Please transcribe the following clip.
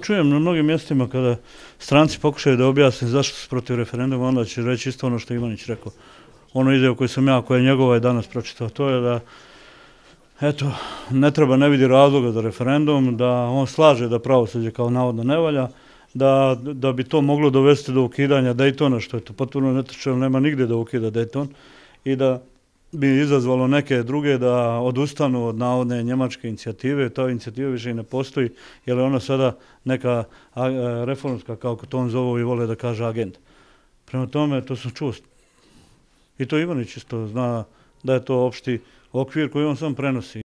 čujem na mnogim mjestima kada stranci pokušaju da objasne zašto su protiv referenduma, onda će reći isto ono što je Ivanić rekao. Ono izjavu koju sam ja, koja je njegova i danas pročitao, to je da eto, ne vidi razloga za referendum, da on slaže da pravosuđe kao navodno ne valja, da bi to moglo dovesti do ukidanja Daytona, što je to potpuno netočno, nema nigdje da ukida Dayton, i da bi izazvalo neke druge da odustanu od navodne njemačke inicijative. Ta inicijativa više i ne postoji, jer je ona sada neka reformska, kako to on zovu i vole da kaže, agenda. Prema tome, to sam čuo. I to Ivanić isto zna da je to opšti okvir koji on sam prenosi.